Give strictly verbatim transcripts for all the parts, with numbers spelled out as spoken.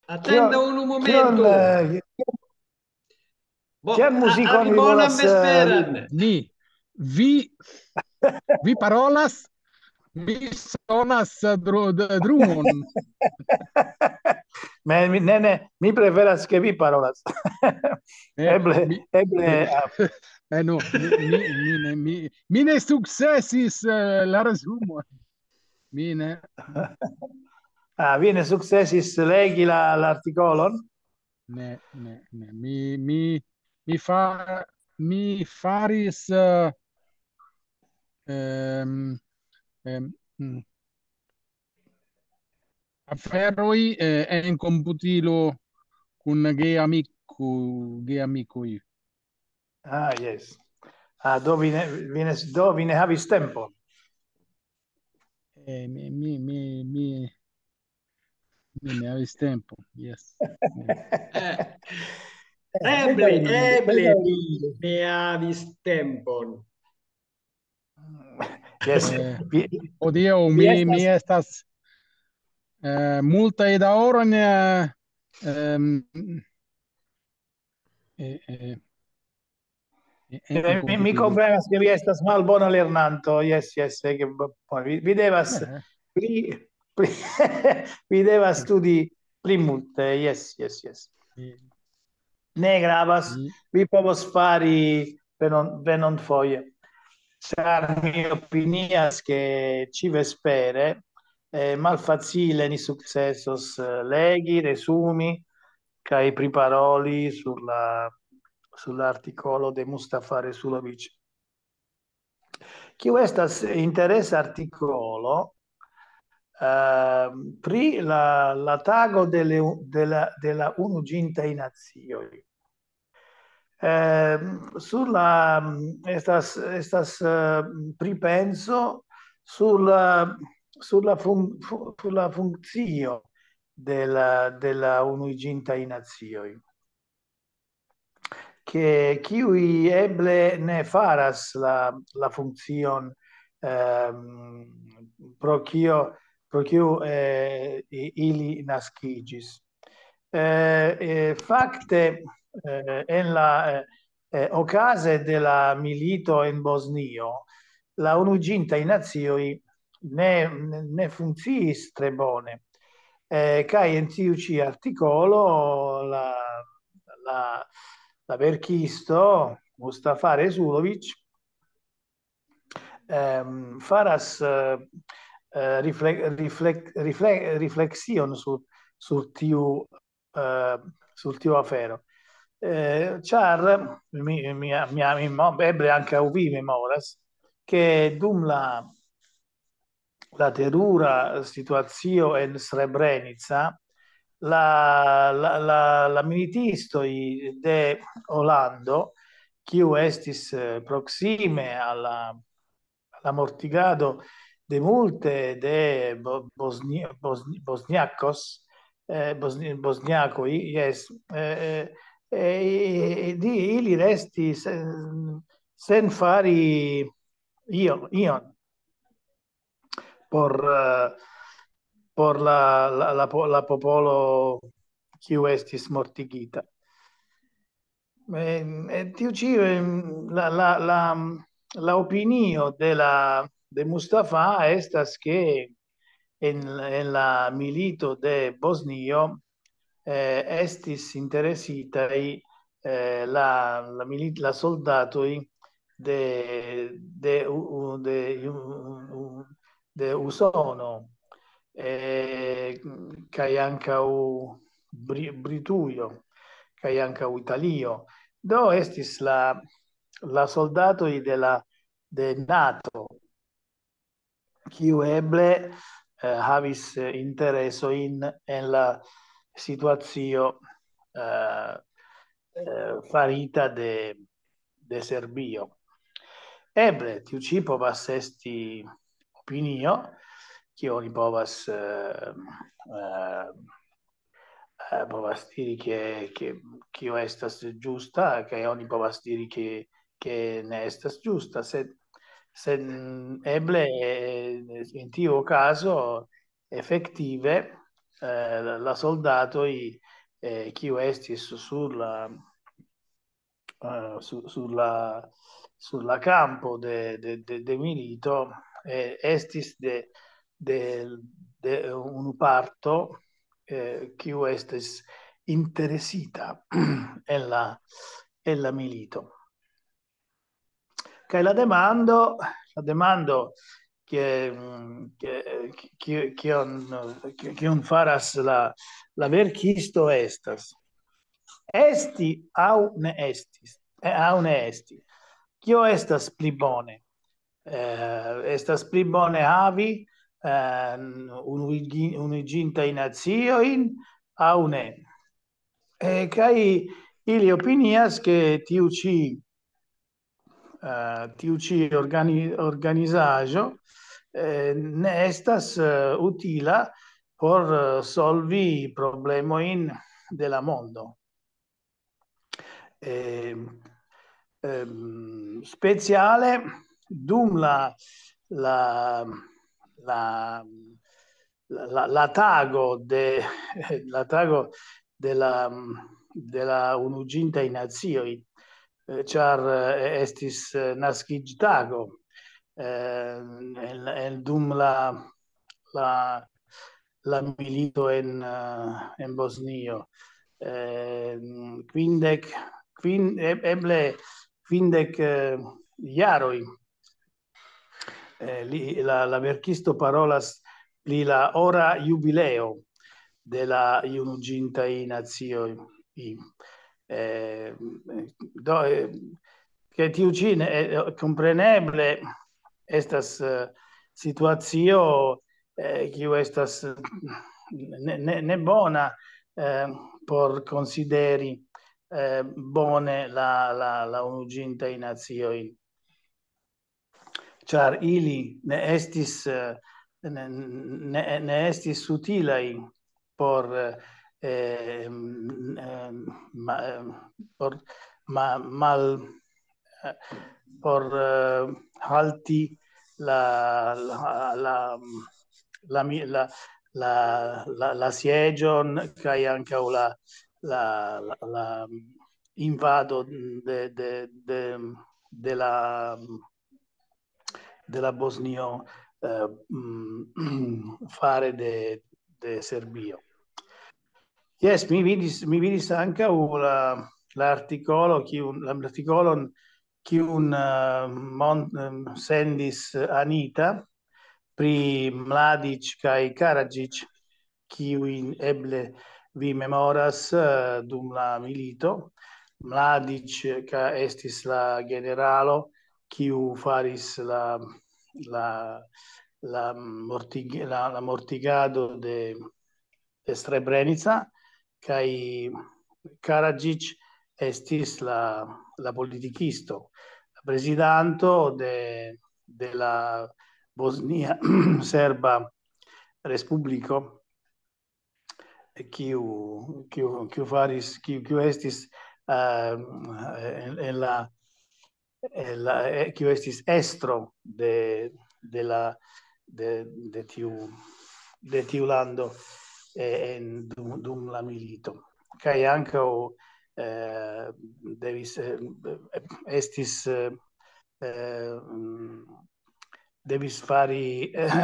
Atendu unu momenton. Kion, eh, kion muzikon vi volas, eh, ludi? Ni, vi, vi parolas, mi sonas, eh, dru-, d-, drumon. Ne, mi, ne, ne, mi preferas, ke vi parolas. Eh, eble, mi, eble, mi, ah, eh, no, mi, mi, mi ne, mi, mi ne sukcesis, eh, la resumo. Mi ne. Ah, vi ne sukcesis legi la, la artikolon? Ne, ne, ne. Mi, mi, mi fa-, mi faris, eh, ehm, ehm, mm, aferoj, eh, en komputilo kun geamiko-, geamikoj. Ah, yes. Ah, do vi ne, vi ne, do vi ne havis tempon? Eh, mi, mi, mi, mi, mi ne havis tempon, yes. Yes. Eh, eble, eble vi ne havis tempon. Yes. Eh, vi, hodiaŭ vi mi, mi estas, estas, eh, multaj da oro en, eh, ehm, eh, eh, eh, eh, mi, mi komprenas, ke vi estas malbona lernanto. Yes, yes, eh, ke bo-, bo-, vi, vi devas, eh, pli, pli, vi devas studi pli multe. Yes, yes, yes. Eh, ne gravas, mm, vi povos fari venon-, venonfoje. Ĉar mi opinias, ke ĉi-vespere, eh, malfacile ni sukcesos, eh, legi, resumi kaj priparoli sur la, sur la artikolo de Mustafa Resulovic, kiu estas interesa artikolo, eh, pri la, la tago de le-, de la, de la Unuiĝintaj Nacioj. Eh, sur la, estas, estas, eh, pripenso sur la, sur la fun-, fu-, sur la funkcio de la, de la Unuiĝintaj Nacioj, ke kiuj eble ne faras la, la funkcion, ehm, pro kio, pro kiu, eh, i-, ili naskiĝis. Eh, eh, fakte, eh, en la, eh, eh, okaze de la milito en Bosnio, la Unuiĝintaj Nacioj ne, ne, ne funkciis tre bone. Eh, kaj en tiu ĉi artikolo la, la, la verkisto Mustafa Resulovic, ehm, faras, eh, eh, rifle-, riflek-, rifle-, rifleksion sur, sur tiu, eh, sur tiu afero. Eh, ĉar mi, mi, mi, mi mo-, eble ankaŭ vi memoras, ke dum la, la terura situacio en Srebrenica, la, la, la, la militistoj de Holando, kiu estis, eh, proksime al la, al la mortigado de multe de bo-, bosni-, bosni-, bosniakos, eh, bosni-, bosniakoj, jes, eh, eh, eh, di-, ili restis, eh, sen fari io-, ion por, eh, por la, la, la po-, la popolo kiu estis mortigita. Ehm, e tiu ĉi, ehm, la, la, la, la opinio de la, de Mustafa estas, ke en, en la milito de Bosnio, eh, estis interesitaj, eh, la, la milit-, la soldatoj de, de U-, U-, de U-, U-, de Usono, eh, kaj ankaŭ Bri-, Britujo, kaj ankaŭ Italio. Do estis la, la soldatoj de la, de nato, kiu eble, eh, havis, eh, interesojn en la situacio, eh, eh, farita de, de Serbio. Eble tiu ĉi povas esti opinio, kiu oni povas, eh, eh, eh, povas diri, ke, ke, kio estas ĝusta, kaj oni povas diri, ke, ke ne estas ĝusta, sed, sed eble, eh, en tiu okazo efektive, eh, la, la soldatoj, eh, kiu estis sur la, eh, su-, sur la, sur la kampo de, de, de, de milito, eh, estis de, de, de unu parto, eh, kiu estis interesita en la, en la milito. Kaj la demando, la demando ke, mm, ke, ke, kion, ke, kion faras la, la verkisto estas: esti aŭ ne estis, eh, aŭ ne esti. Kio estas pli bone? Eh, estas pli bone havi, eh, unuigi-, unuiĝintajn naciojn aŭ ne? Eh, kaj ili opinias, ke tiu ĉi, eh, tiu ĉi organi-, organizaĵo, eh, ne estas, eh, utila por, eh, solvi problemojn de la mondo. Eh, ehm, speciale dum la, la, la, la, la tago de, la tago de la, de la Unuiĝintaj Nacioj, eh, ĉar, eh, estis, eh, naskiĝtago, eh, en, en dum la, la, la milito en, eh, en Bosnio. Eh, kvindek, kvin-, e-, eble kvindek, eh, jaroj, eh, li, la, la verkisto parolas pri la ora jubileo de la Unuiĝintaj Nacioj. I, eh, do, eh, ke tiu ĉi ne, eh, kompreneble estas, eh, situacio, eh, kiu estas, eh, ne, ne, ne bona, eh, por konsideri, eh, bone la, la, la Unuiĝintaj Nacioj, ĉar ili ne estis, eh, ne, ne, ne estis utilaj por, eh, em, em, ma-, em, por ma-, mal-, eh, por, eh, halti la, la, la, la mi-, la, la, la, la sieĝon kaj ankaŭ la, la, la, la invado de, de, de, de la, de la Bosnio, eh, mm, fare de, de Serbio. Jes, mi vidis, mi vidis ankaŭ la, la artikolo, kiun, la artikolon, kiun, eh, mon-, em, sendis Anita pri Mladic kaj Karadzic, kiujn eble vi memoras, eh, dum la milito. Mladic, ka-, estis la generalo, kiu faris la, la, la mortig-, la, la mortigado de, de Srebrenica, kaj Karadzic estis la, la politikisto, la prezidanto de, de la Bosnia Serba Respubliko, kiu, kiu, kiu faris, kiu, kiu estis, eh, en, en la, en la, eh, kiu estis estro de, de la, de, de tiu, de tiu lando, eh, en, dum, dum la milito. Kaj ankaŭ, eh, devis, eh, estis, eh, eh, mm, devis fari, eh,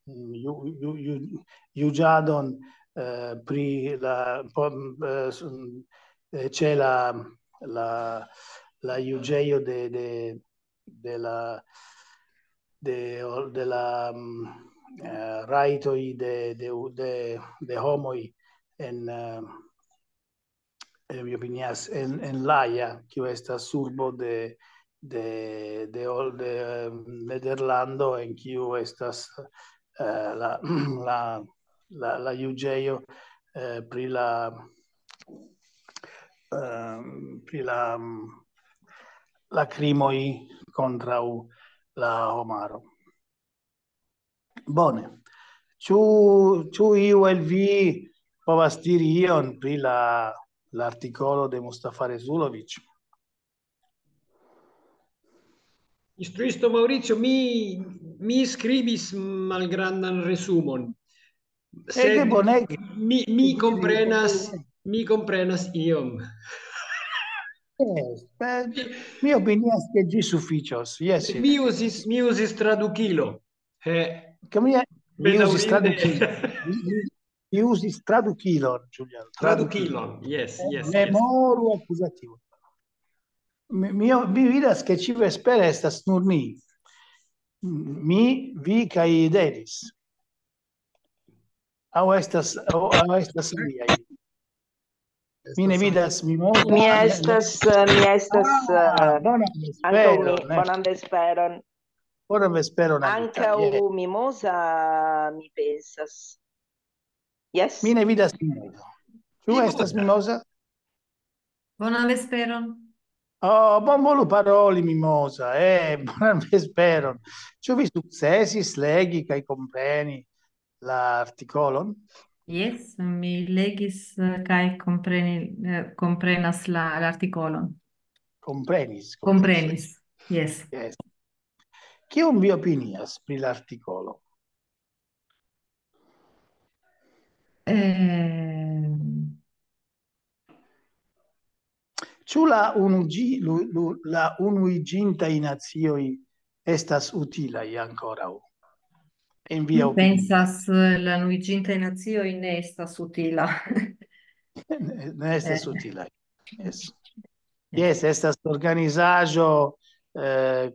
ju-, ju-, ju-, juĝadon, eh, pri la, po-, eh, s-, eh, ĉe la, la, la juĝejo de, de, de la, de, de la, mm, eh, rajtoj de, de, de, de homoj en, eh, eh, mi opinias, en, en La Haia, kiu estas urbo de, de, de, de, eh, Nederlando, en kiu estas, eh, la, la, la, la juĝejo, eh, pri la, eh, pri la, mm, la krimoj kontraŭ la homaro. Bone. Ĉu, ĉu iu el vi povas diri ion pri la, la artikolo de Mustafa Rezulovic? Instruisto Maurizio, mi, mi skribis malgrandan resumon. Ege bonege. Mi, mi komprenas, mi komprenas iom. Yes, beh, mi opinias ke ĝi sufiĉos. Yes, mi uzis, mi uzis tradukilo. He, ke mi, mi uzis tradukilo. Mi, mi, mi uzis tradukilon, Julian. Tradukilon, yes, yes, yes. Memoru akuzativo. Mi, mi, mi vidas ke ĉi vespere estas nur mi. Mi, vi kaj Denis. Aŭ estas, aŭ, aŭ estas aliaj. Mi ne vidas, mi mono. Mi estas, eh, mi estas, ah, eh, bonan vesperon, ankaŭ mi, eh. Bonan vesperon. Bonan vesperon, Anita. Ankaŭ yes. Mimoza, mi pensas. Yes. Mi ne vidas Mimoza. Ĉu estas Mimoza? Bonan vesperon. Oh, bonvolu paroli, Mimoza. Eh, bonan vesperon. Ĉu vi sukcesis legi kaj kompreni la artikolon? Yes, mi legis, eh, kaj kompreni, eh, komprenas la, la artikolon. Komprenis, komprenis. Komprenis, yes. Yes. Kion vi opinias pri la artikolo? Eh, Ĉu la unuĝi-, lu-, lu-, la unuiĝintaj nacioj estas utilaj ankoraŭ? En via Mi opinio? Pensas, eh, la unuiĝintaj nacioj ne estas utila. Ne, ne estas Eh. Utilaj. Yes. Yes, estas organizaĵo, eh,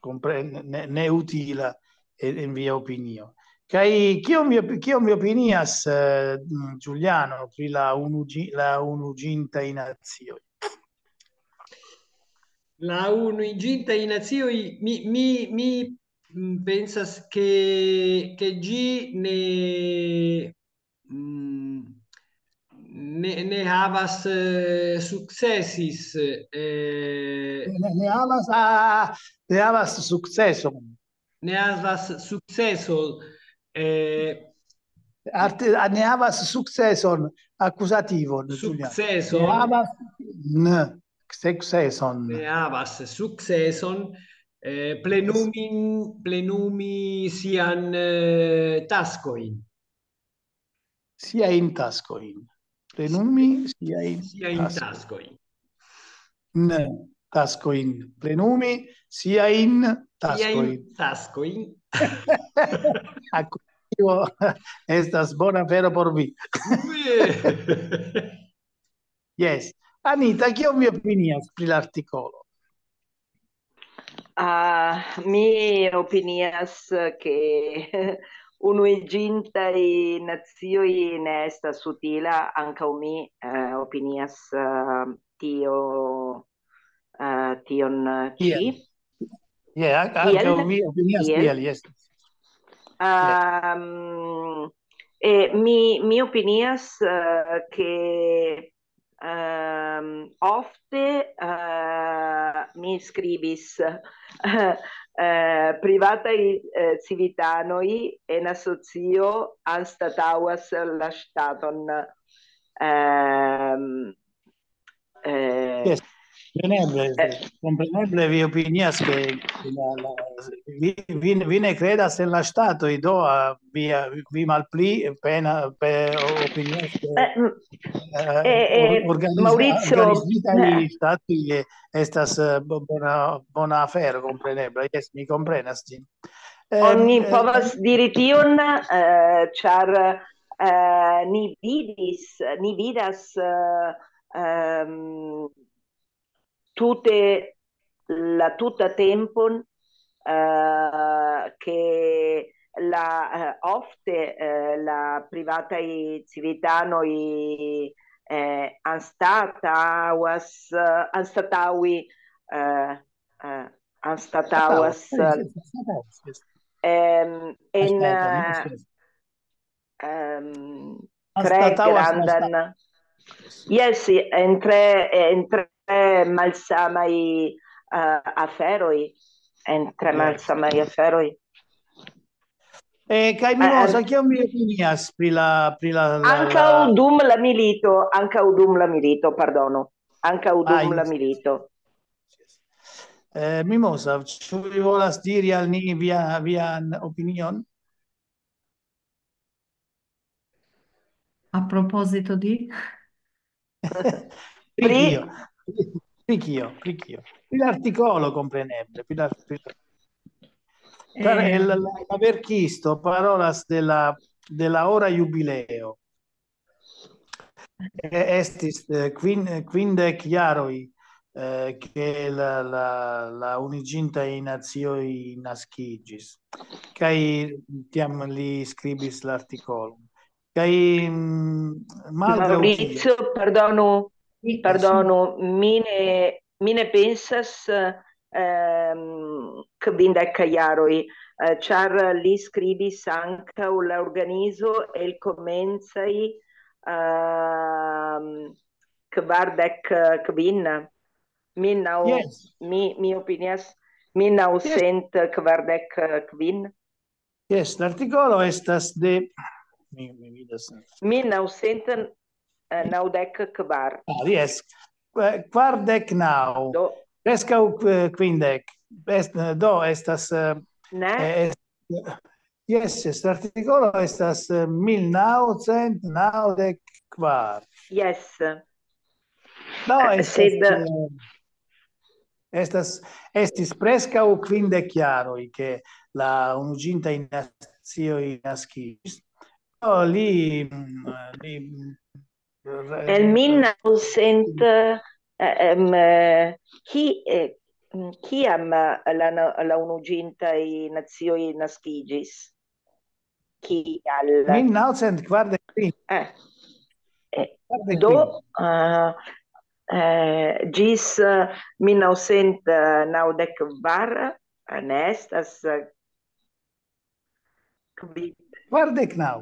kompre-, ne, ne utila en, en via opinio. Kaj kion vi opi-, kion vi opinias, eh, mm, Giuliano, pri la unuĝi-, la unuiĝintaj nacioj? La unuiĝintaj nacioj, mi, mi, mi, mm, pensas ke, ke ĝi ne, mm, ne, ne havas, eh, sukcesis, eh, Ne, ne havas, ah, ne havas sukceson. Ne havas sukceson, eh, Arte-, ah, ne havas sukceson, akuzativon, Giuliano. Sukceson. Ne havas, n, sukceson. Ne havas sukceson, eh, plenumi, plenumi sian, eh, taskojn. Siajn taskojn. Plenumi siajn Siajn taskojn. Taskojn. Ne, taskojn. Plenumi siajn taskojn. Siajn taskojn. Akuzativo estas bona afero por vi. Ue. Yes. Anita, kion vi opinias pri la artikolo? Ah, mi opinias ke unuiĝintaj nacioj ne estas utila, ankaŭ mi, eh, opinias, eh, tio, eh, tion, eh, ĉi. Kiel? Yeah, a-, ankaŭ Kiel? Mi opinias Kiel? Tiel, yes. Ehm, e mi, mi opinias, eh, ke, ehm, ofte, eh, mi skribis, eh, privataj, eh, civitanoj en asocio anstataŭas la ŝtaton. Ehm, eh, Yes. Kompreneble, eh, kompreneble vi opinias ke la, la, vi, vi, vi ne kredas en la ŝtatoj, do, ah, vi, ah, vi malpli pena, pe-, opinias ke, Eh, mm, eh, eh, eh, or-, organiza-, Maurizio, organizitaj eh. Ŝtatoj, eh, estas, eh, bo-, bona, bona afero, kompreneble. Yes, mi komprenas ĝin. Ehm, Oni eh, povas diri tion, eh, ĉar, eh, ni vidis, ni vidas, eh, ehm, tute la tuta tempon, eh, ke la, eh, ofte, eh, la privataj civitanoj, eh, anstataŭas, eh, anstataŭi, eh, eh, anstataŭas, Anstataŭas, yes, yes, anstataŭas, yes. Ehm, en, Anstataŭas, eh, yes, yes. Ehm, tre Anstataŭas, grandan, anstataŭas. Yes, en tre, en tre malsamaj, eh, aferoj, en tre Yes. malsamaj aferoj. Eh, kaj Eh, Mimosa, eh. Kion vi opinias pri la, pri la, la, Ankaŭ la dum la milito, ankaŭ dum la milito, pardono. Ankaŭ Ah, dum la yes. milito. Eh, Mimosa, ĉu vi volas diri al ni via, vian opinion? A proposito di? Pri kio? Pri kio? Pri kio? Pri l'artikolo, kompreneble. Pri la, pri... Ĉar Eh, la, la, la verkisto parolas de la, de la ora jubileo. Eh, estis, eh, quin-, quindec jaroj, eh, che la, la, la Unuiĝintaj Nacioj naskiĝis. Kaj tiam li skribis l'artikolon. Kaj, mm, malgraŭ tio, Maurizio, pardonu, sì, pardonu, mi ne, mi ne pensas, ehm, kvindek jaroj, eh, ĉar li skribis ankaŭ la organizo el komencaj, ehm, kvardek kvin, mil naŭ, Yes. mi, mi opinias, mil naŭcent kvardek kvin. Yes, l'artikolo estas de, mi, mi vidas. Mil naŭcent naŭdek kvar. Ah, yes. Eh, kvardek naŭ. Do, Preskaŭ, eh, quindec. Est-, do estas, eh, ne? eh, est-, yes, yes, l'artikolo estas, eh, mil naŭcent naŭdek kvar. Yes. No, Eh, estas, sed eh, estas, estis preskaŭ quindec jaroj, che la Unuiĝintaj Nacioj naskiĝis. Do li, mm, li, mm, re-, El mil naŭcent, eh, em, eh, ki-, eh, mm, kiam la na-, la Unuiĝintaj Nacioj naskiĝis? Kial? Mil naŭcent kvardek kvin. Eh, eh, Kvardek do, kvin. eh, eh, ĝis, eh, mil naŭcent naŭdek kvar, eh, ne estas, eh, kvin-, Kvardek naŭ.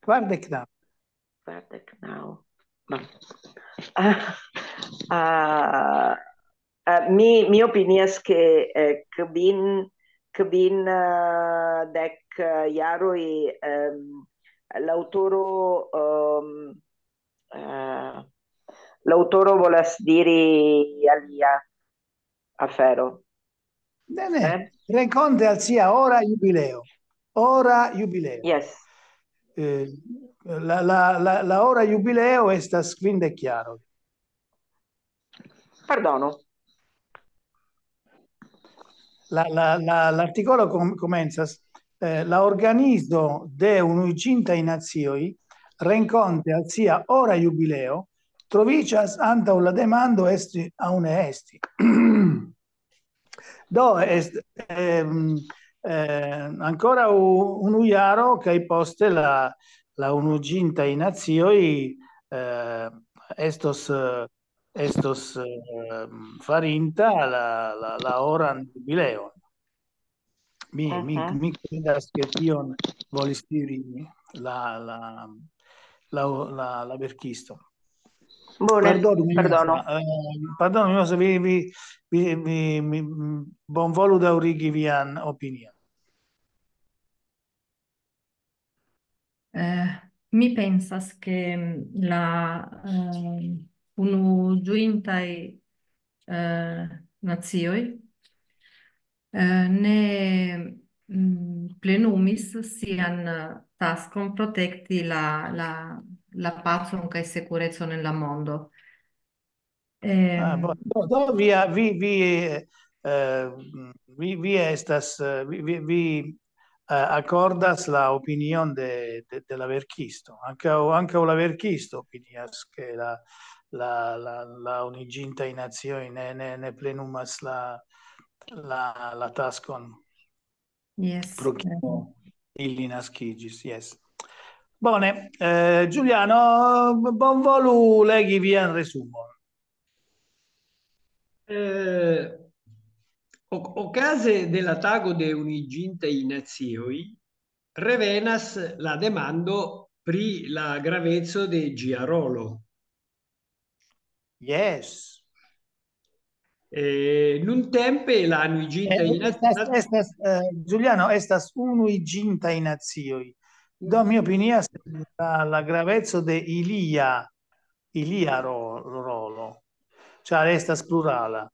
Kvardek naŭ. Kvardek naŭ. Ah, ah, ah, mi, mi opinias, ke, eh, kvin, kvin, eh, dek, eh, jaroj, ehm, l'aŭtoro, ehm, eh, l'aŭtoro volas diri alia afero. Ne, ne. Eh? Renkonte al sia ora jubileo. Ora jubileo. Yes. Eh, la, la, la, la ora jubileo estas quindec jaroj. Pardonu. La, la, la, l'artikolo com-, komencas, eh, la organizo de Unuiĝintaj Nacioj renkonte al sia ora jubileo troviĝas antaŭ la demando esti aŭ ne esti. Do, est-, ehm, eh, ankoraŭ unu jaro, kaj poste la, la Unuiĝintaj Nacioj, eh, estos, eh, estos, ehm, farinta la, la, la oran jubileon. Mi, mi, Mhm. Mi kredas, ke tion volis diri la, la, la, la, la verkisto. Bone, Pardonu, mi pardonu. Mosa, eh, pardonu, mi Mosa, vi, vi, vi, vi, mi, mm, bonvolu daŭrigi vian opinion. Eh, mi pensas, ke, mm, la, eh, Unuiĝintaj, eh, Nacioj, eh, ne, mm, plenumis sian, eh, taskon protekti la, la, la pacon kaj sekurecon en la mondo. Ah, Ehm, bo-, do, do vi, vi, vi, eh, vi, vi estas, eh, vi, vi, vi, eh, akordas la opinion de, de, de la verkisto. Ankaŭ, ankaŭ la verkisto opinias, ke la, la, la, la Unuiĝintaj Nacioj ne, ne, ne plenumas la, la, la taskon Yes, pro kio eh, ili naskiĝis, yes. Bone, eh, Giuliano, bonvolu legi vian resumon. Eh, o-, okaze de la tago de Unuiĝintaj Nacioj revenas la demando pri la graveco de ĝia rolo. Yes. Eh, nuntempe la Unuiĝintaj Eh, Nac-, estas, estas, eh, Giuliano, estas Unuiĝintaj Nacioj. Do mi opinias la, la graveco de ilia, ilia ro-, rolo, ĉar estas plurala.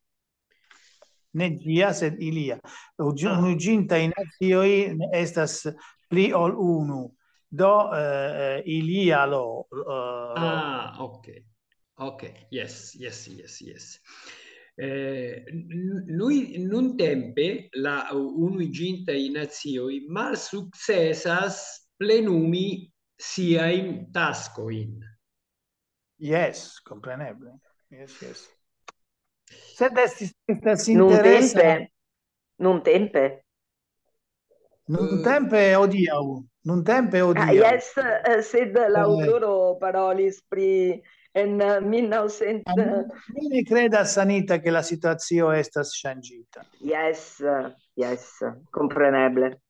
Ne ĝia, sed ilia. Unuiĝintaj Nacioj estas pli ol unu. Do, eh, eh, ilia lo, eh, lo- Ah, ok. Ok, yes, yes, yes, yes. Eh, n- noi, nuntempe la Unuiĝintaj Nacioj malsukcesas plenumi siajn taskojn. Yes, kompreneble. Yes, yes. Sed estis, estas interesa. Nuntempe, nuntempe. Nuntempe hodiaŭ. Nuntempe Ah, hodiaŭ. Yes, eh, sed Eh, l'aŭtoro parolis pri en eh, mil naŭcent. Mi ne credas, Anita, che la situacio estas ŝanĝita. Yes, eh, yes, kompreneble.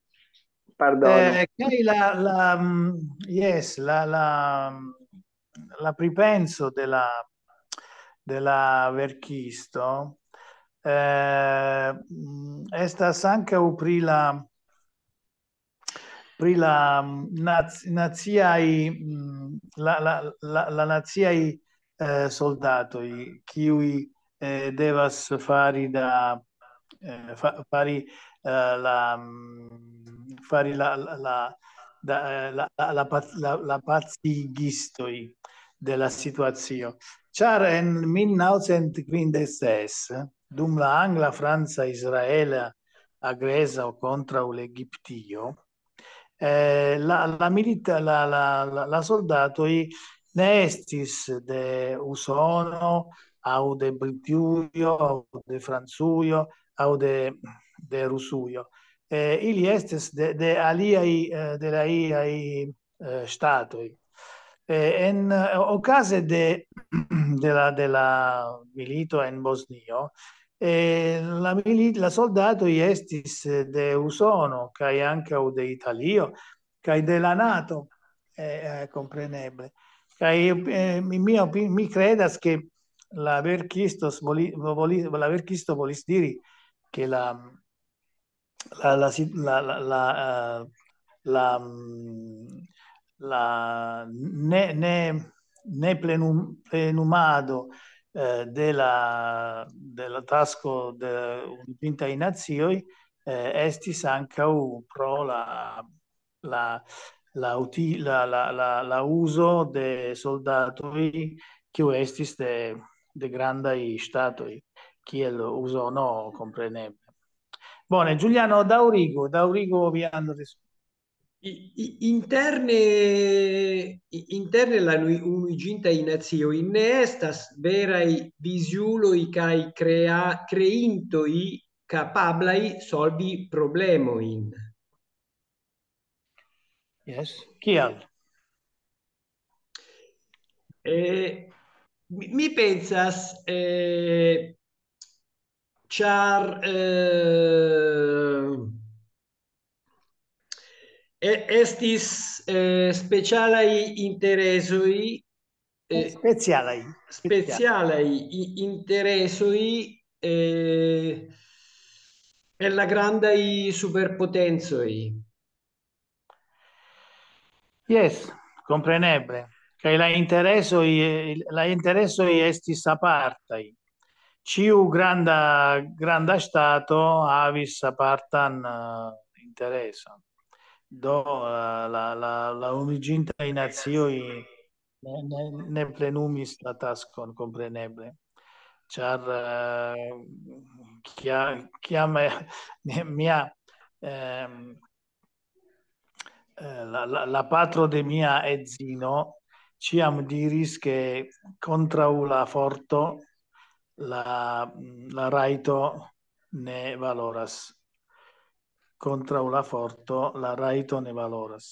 Pardono. Eh, kaj la, la, mm, yes, la, la, la pripenso de la, de la verkisto, eh, mm, estas ankaŭ pri la, pri la, mm, nac-, naciaj, mm, la, la, la, la naciaj, eh, soldatoj, kiuj, eh, devas fari da, eh, fa-, fari, eh, la, mm, fari la, la, la, da, eh, la, la, la pac-, la, la pacigistoj de la situacio. Ĉar en mil naŭcent kvindek ses, dum la angla, franca, israela agreso kontraŭ l'Egiptio, eh, la, la milita-, la, la, la, la soldatoj ne estis de Usono, aŭ de Britujo, aŭ de Francujo, aŭ de, de Rusujo. Eh, ili estis de, de aliaj, eh, de la aliaj, eh, ŝtatoj. Eh, en, eh, okaze de, de la, de la milito en Bosnio, eh, la milit-, la soldatoj estis, eh, de Usono, kaj ankaŭ de Italio, kaj de la nato, eh, eh, kompreneble. Kaj, eh, mi, mi opi-, mi credas, ke la verkisto voli-, voli-, la verkisto volis diri, ke la, la, la sit-, la, la, la, eh, la, mm, la ne, ne, ne plenum-, plenumado, eh, de la, de la tasko de Unuiĝintaj Nacioj, eh, estis ankaŭ pro la, la, la uti-, la, la, la, la uzo de soldatoj, kiu estis de, de grandaj ŝtatoj, kiel Usono, kompreneble. Bone, Giuliano, daŭrigu, daŭrigu vian ris-, I- i- Interne, i- interne la nui- Unuiĝintaj Nacioj ne estas veraj viziuloj kaj krea-, kreintoj kapablaj solvi problemojn. Yes. Kial? Eh, mi, mi pensas, eh, ĉar, eh, e- estis, eh, specialaj interesoj, eh, Specialaj. specialaj i- interesoj, eh, en la grandaj superpotencoj. Yes, kompreneble. Kaj la interesoj, eh, la interesoj estis apartaj. Ĉiu granda, granda ŝtato havis apartan, eh, intereson. Do, eh, la, la, la Unuiĝintaj Nacioj ne, ne, ne plenumis la taskon, kompreneble. Ĉar, eh, kia-, kiam, eh, mia, ehm, eh, la, la, la patro de mia edzino ĉiam diris, ke kontraŭ la forto la, la rajto ne valoras. Kontraŭ la forto la rajto ne valoras.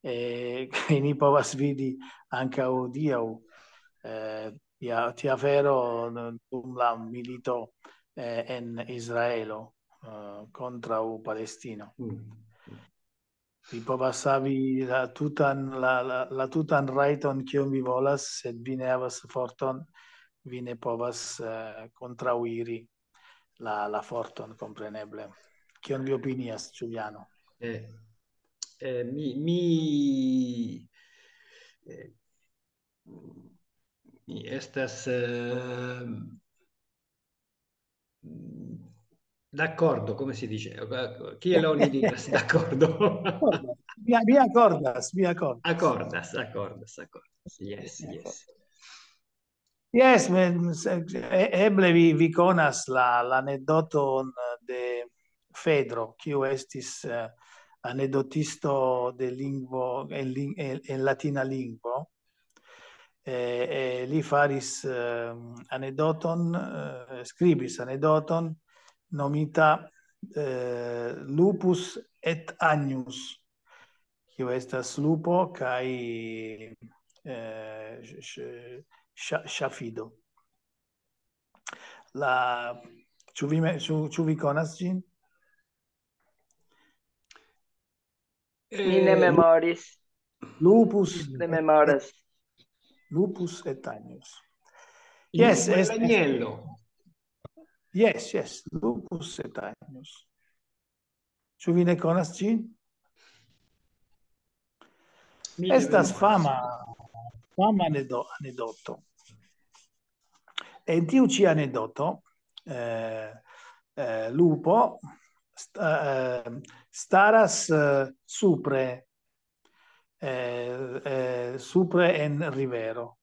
Eh, kaj ni povas vidi ankaŭ hodiaŭ, eh, tia, tia afero dum la milito, eh, en Israelo, eh, kontraŭ Palestino. Mm. Vi povas havi la tutan, la, la, la tutan rajton, kion vi volas, sed vi ne havas forton, vi ne povas, eh, kontraŭiri la, la forton, kompreneble. Kion vi opinias, Giuliano? Eh, eh, mi, mi, eh, mi estas, eh, d'accordo, come si dice? Kiel oni diras d'accordo? Mi, mi akordas, mi akordas. Akordas, akordas, akordas. Yes, yes. Yes, men, se, e-, eble vi, vi konas la, la anekdoton de Fedro, kiu estis, eh, anekdotisto de lingvo, en, lin-, en, en latina lingvo. Eh, eh, li faris, eh, anekdoton, eh, skribis anekdoton nomita, eh, Lupus et Agnus, kiu estas lupo kaj, eh, ŝ-, ŝ-, ŝa-, ŝafido. La, ĉu vi me-, ĉu, ĉu vi konas ĝin? Mi ne memoris. Lupus, Ne memoras. Lupus et Agnus. Yes, Lupo es-, Agnello. Yes, yes, Lupus et Agnus. Ĉu vi ne konas ĝin? Mi ne Estas memoras. Fama, fama anedo-, anekdoto. En tiu ĉi anekdoto, eh, eh, lupo st-, eh, staras, eh, supre, eh, eh, supre en rivero.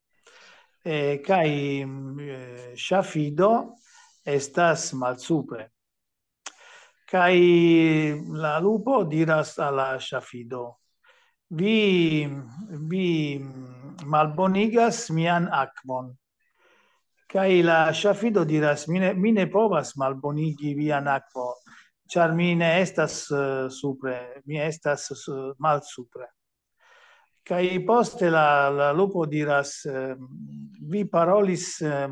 Eh, kaj, mm, eh, ŝafido estas malsupre. Kaj la lupo diras al la ŝafido: "Vi, vi, mm, malbonigas mian akvon." Kaj la ŝafido diras: "Mi ne, mi ne povas malbonigi vian akvon, ĉar mi ne estas, eh, supre, mi estas, eh, malsupre." Kaj poste la, la lupo diras: "Eh, vi parolis, eh,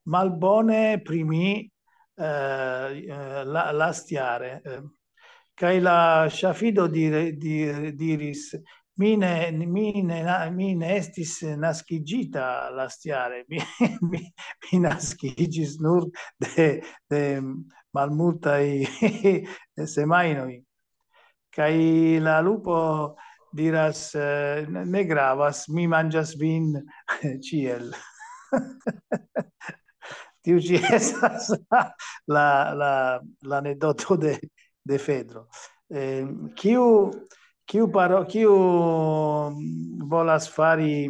malbone pri mi, eh, eh, la, lastjare." Eh, kaj la ŝafido dire-, di-, diris: "Mi ne, mi ne na-, mi ne estis naskiĝita lastjare. Mi, mi, mi naskiĝis nur de, de malmultaj semajnoj." Kaj la lupo diras: "Eh, ne, ne gravas, mi manĝas vin ĉiel." Tiu ĉi estas la, la, la, la anekdoto de, de Fedro. Eh, kiu, kiu paro-, kiu volas fari,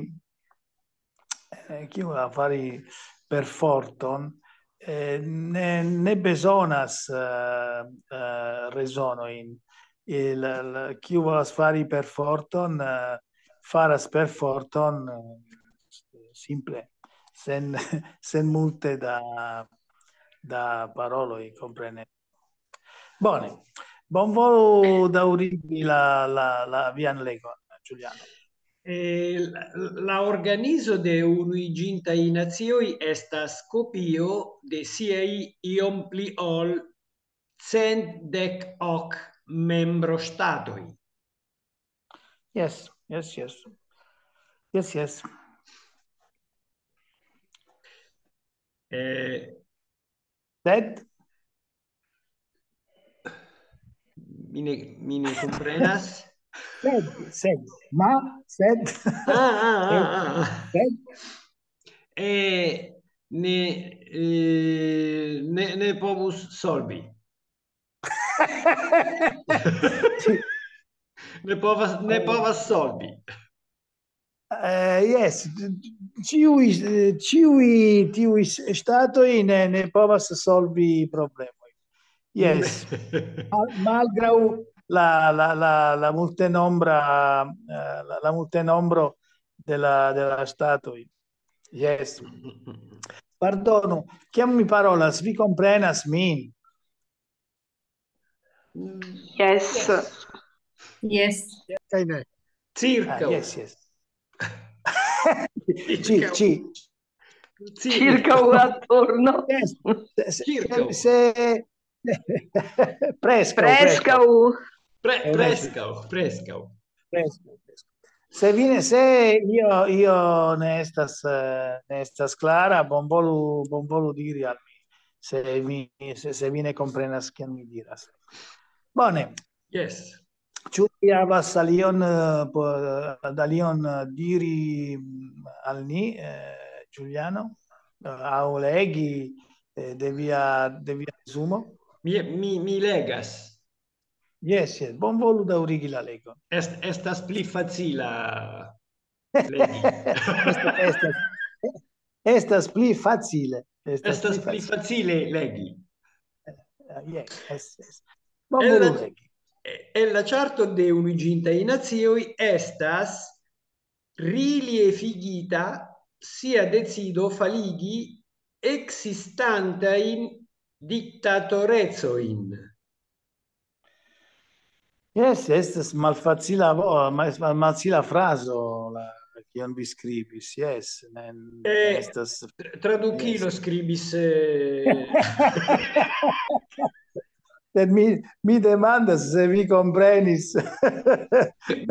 eh, kiu volas fari perforton, eh, ne, ne bezonas, eh, eh, rezonojn. Il, il, kiu volas fari perforton, eh, faras perforton, eh, simple, sen, sen multe da, da paroloj, komprene. Bone, bonvolu daŭrigi la, la, la vian legon, Giuliano. Eh, la, la organizo de Unuiĝintaj Nacioj estas kopio de siaj iom pli ol cent dek ok membroŝtatoj. Yes, yes, yes. Yes, yes. Eh, Sed, mi ne, mi ne komprenas. sed, sed, ma, sed, Ah, ah, ah, ah. sed, Eh, ne, eh, ne, ne povus solvi. Ne povas, ne povas solvi. Eh, yes, ĉiuj, eh, ĉiuj tiuj ŝtatoj ne, ne povas solvi problemoj. Yes. Mal-, malgraŭ la, la, la, la multenombra, eh, la, la multenombro de la, de la ŝtatoj. Yes. Pardonu, kiam mi parolas, vi komprenas min? Yes. Yes. Kaj ne. Circa. Ah, yes, yes. Ci, ci, Circa attorno. Yes. Se, se, Circa. Se, preskaŭ, Preskaŭ. Pre, preskaŭ, preskaŭ. Preskaŭ, preskaŭ. Se vi ne, se io, io ne estas, eh, ne estas klara, bonvolu, bonvolu diri al mi, se mi, se, se vi ne komprenas, kion mi diras. Bone. Yes. Ĉu vi havas alion, eh, po-, eh, alion, eh, diri, mm, al ni, eh, Giuliano? Eh, aŭ legi, eh, de via, de via resumo? Mi, mi, mi legas. Yes, yes. Bonvolu daŭrigi la legon. Est, estas pli facila legi. Estas, estas, estas pli facile. Estas Estas pli pli facile. Facile legi. Eh, yes, yes, yes. En la, Bonvolu legi. En la ĉarto de Unuiĝintaj Nacioj estas reliefigita sia decido faligi ekzistantajn diktatorecojn. Yes, estas malfacila vo-, mal-, malfacila frazo, la, kion vi skribis, yes. Ne, ne Eh, estas, Tra-, Tradukilo yes. Skribis, eh, Sed mi, mi demandas se vi komprenis mi,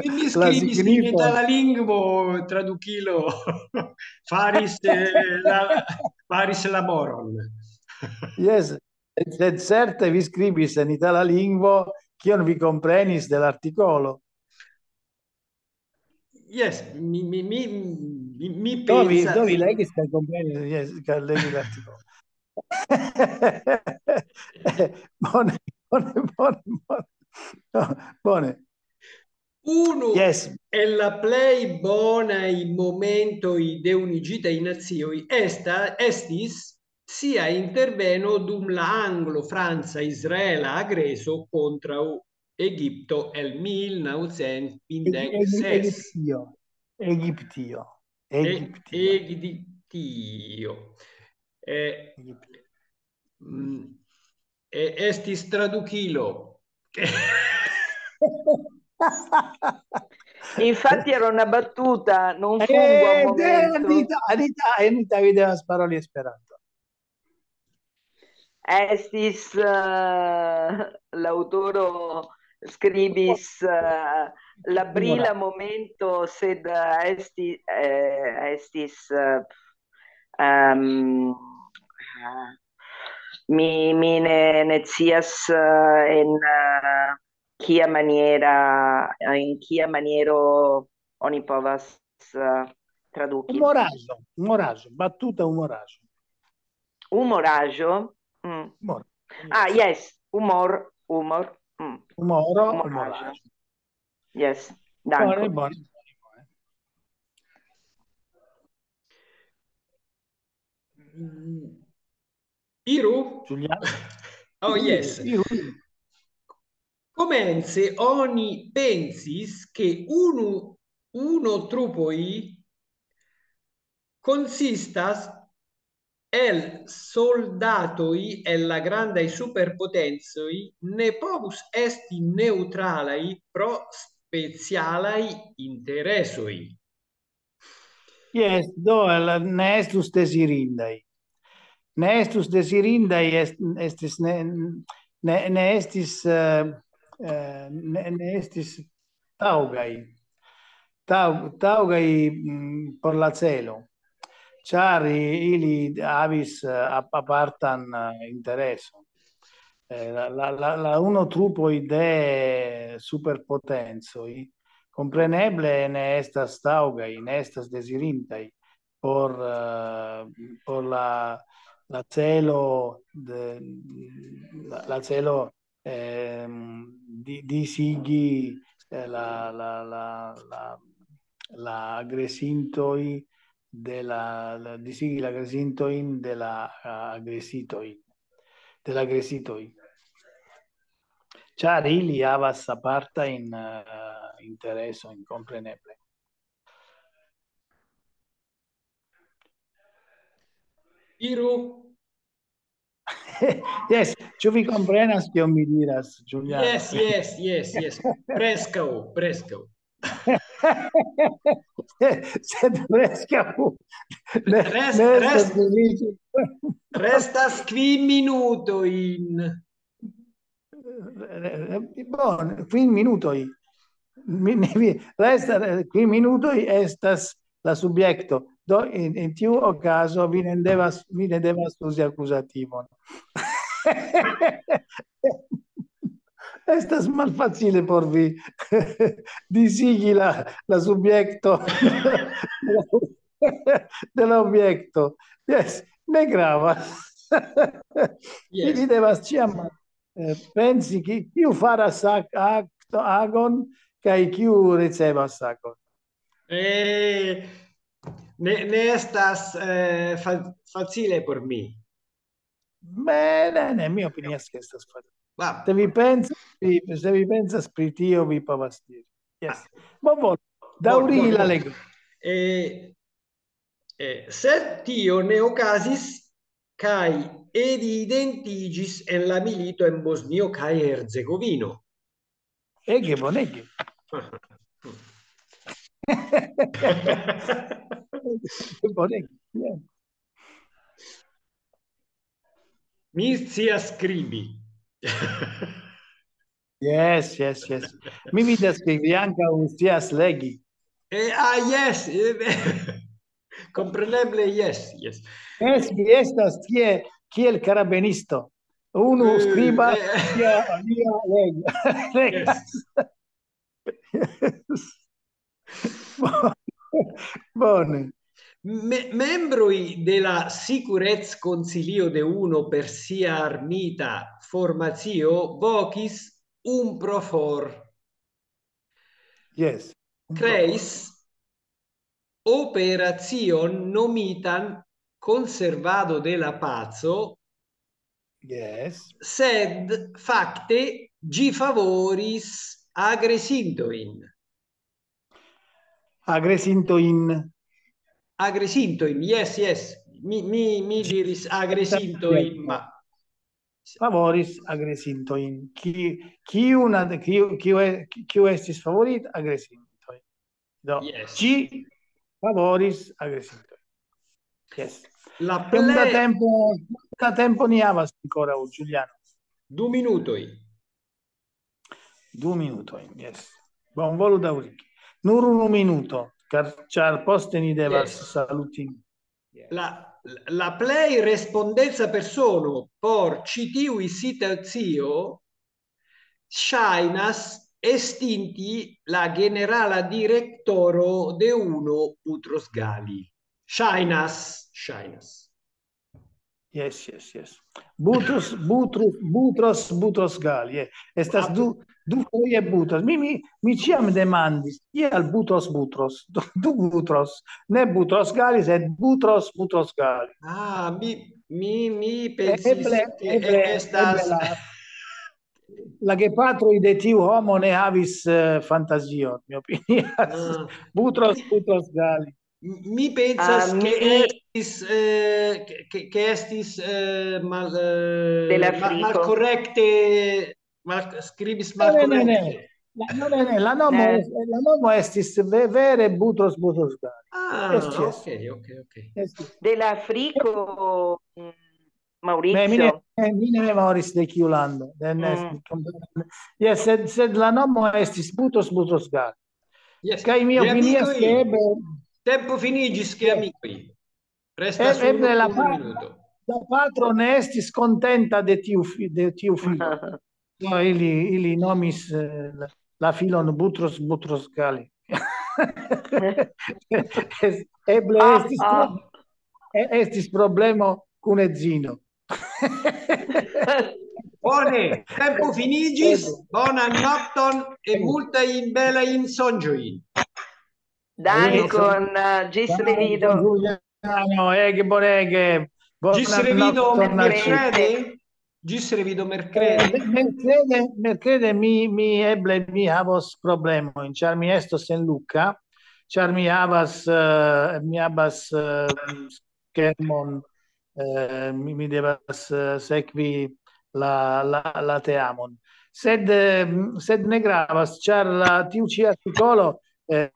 mi la skribis in signifon. Itala lingvo, Tradukilo faris, eh, la, faris laboron. Yes, sed certe vi skribis en itala lingvo, kion vi komprenis de l'artikolo. Yes, mi, mi, mi, mi, mi Do vi, pensas. Do vi legis kaj komprenis, yes, kaj legis l'artikolo. Bone, bone, bone, bone. No, bone. Unu Yes. El la plej bonaj momentoj de Unuiĝitaj Nacioj esta, estis sia interveno dum la anglo-franca-izraela agreso kontraŭ Egipto el mil naŭcent kvindek ses. Egiptio. Egiptio. E-, Egiptio. Egiptio. Eh, Egiptio. mm, e-, estis Tradukilo. Infatti era una battuta, non fu un buon Eh, momento. Anita, Anita, Anita, vi devas paroli Esperanto. Estis, eh, l'autoro skribis, eh, la brila momento, sed, eh, esti-, eh, estis, eh, ehm, eh, mi, mi ne, ne scias, eh, en, eh, kia maniera, in kia maniero oni povas, eh, traduki. Umoraĵo, umoraĵo, batuta umoraĵo. Umoraĵo? Mm. Humor. Ah, yes, humor, humor. Mm. Humoro, Umoraĵo. umoraĵo. Yes, Bone, danke. Bone. Mm. Iru? Giuliano? Oh, yes. Iru, iru. Komence oni pensis, ke unu, unu trupoj konsistas el soldatoj el la grandaj superpotencoj ne povus esti neŭtralaj pro specialaj interesoj. Yes, do, el, ne estus dezirindaj. Ne estus dezirindaj, est-, estis ne, ne, ne estis, eh, eh, ne, ne estis taŭgaj. Taŭ-, taŭgaj, mm, por la celo. Ĉar i-, ili havis, eh, ap-, apartan, eh, intereson. Eh, la, la, la, la unu trupoj de superpotencoj kompreneble ne estas taŭgaj, ne estas dezirintaj por, eh, por la, la celo de, la, la celo, ehm, di-, disigi, eh, la, la, la, la, la agresintoj de la, la, disigi la agresintojn de la, eh, agresitoj, de la agresitoj. Ĉar ili havas apartajn, eh, interesojn, kompreneble. Iru. Yes, ĉu vi komprenas, kion mi diras, Giuliano? Yes, yes, yes, yes. Preskaŭ, preskaŭ. Sed preskaŭ. Ne, Rest-, ne estas rest-, sufiĉe. Restas kvin minutojn. Eh, bone, kvin minutoj. Mi, mi, mi, resta, eh, kvin minutoj estas la subjekto. Do, en, en tiu okazo vi ne devas, vi ne devas uzi akuzativon. Estas malfacile por vi disigi la, la subjekto de la objekto. Yes, ne gravas. Yes. Vi devas ĉiam Eh, pensi, ki-, kiu faras ak-, akto-, agon, kaj kiu ricevas agon. Eh, ne, ne estas eh, fa-, facile por mi. Ne, ne, ne, mi opinias, ke estas facile. Ma, Se vi pensas, vi, se vi pensas pri tio, vi povas diri. Yes. Bon, bon, bon, daŭrigi bon, la bon. Lego. Eh, eh, sed tio ne okazis, kaj evidentiĝis en la milito en Bosnio kaj Hercegovino. Ege bonege. Bonege. Yeah. Mi scias skribi. Yes, yes, yes. Mi vidas, ke vi ankaŭ scias legi. Eh, ah, yes. Eh, kompreneble, yes, yes. Yes, vi estas tie kiel karabinisto. Unu Eh, skribas, eh. Lia, lia legi. Legas. Yes. Bone. Me-, membroj de la Sicurezconcilio de uno per sia armita formacio vokis un pro for. Yes. Kreis operacion nomitan conservado de la paco, Yes. Sed fakte ĝi favoris agresintojn. Agresintojn. Agresintojn, yes, yes. Mi, mi, mi diris agresintojn, ma Favoris agresintojn. Ki-, kiu na-, kiu, kiu e-, kiu estis favorit? Agresintojn. Do, Yes. Ĝi favoris agresintojn. Yes. La Kiom da plej tempo, kiom da tempo ni havas ankoraŭ, Giuliano? Du minutoj. Du minutojn, yes. Bonvolu daŭrigi. Nur unu minuto, ĉar, ĉar poste ni devas Yes. Saluti. La, la plej respondeca persono por ĉi tiuj situacio ŝajnas estinti la generala direktoro de uno Butros Ghali. Ŝajnas, ŝajnas. Yes, yes, yes. Butros, Butros, Butros, Butros Ghali. Yeah. Estas Ah, du, du foje Butros. Mi, mi, mi ĉiam demandis, kial Butros, Butros? Du, du Butros. Ne Butros Ghali, sed Butros, Butros Ghali. Ah, mi, mi, mi pensis Eble, ke eble, estas eble la, la gepatroj de tiu homo ne havis eh, fantazion, mi opinias. Ah. Butros, Butros Ghali. Mi pensas Ah, ke mi- estis, eh, ke, ke, ke estis eh, mal, eh, De la ma-, friko. Malkorekte, mal, skribis Ne, ne, ne, ne. malkorekte. La, no, ne, ne, la nomo, Eh. est- la nomo estis ve-, vere Butros, Butros Ghali. Ah, Yes, yes. Ok, ok, ok. Estis. De la friko, mm, Ne, mi ne, Maurizio. eh, mi ne memoris de kiu lando. Ne, ne, Mm. mi komprenas. Yes, sed, sed la nomo estis Butros, Butros Ghali. Yes. Kaj mi opinias Geamikoj, ke eble, tempo finiĝis, Yes. Geamikoj. Restas e-, eble unu, la unu pa-, minuto. La patro ne estis kontenta de tiu fi-, de tiu filo. Do ili, ili nomis eh, la, la filon Butros, Butros Ghali. Es-, eble Ah, estis, ah. pro-, e-, estis problemo kun edzino. Bone, tempo finiĝis. Bonan nokton e multajn belajn sonĝojn. Dankon, eh, ĝis revido. Giuliano, ege bonege. Bonan Ĝis revido nokton al ĉiuj. merkrede. Ĝis revido merkrede. Eh, Merkrede, merkrede mi, mi eble mi havos problemojn, ĉar mi estos en Lucca, ĉar mi havas, eh, mi havas eh, schermon, eh, mi, mi devas eh, sekvi la, la, la teamon. Sed, eh, sed ne gravas, ĉar la, tiu ĉi artikolo eh,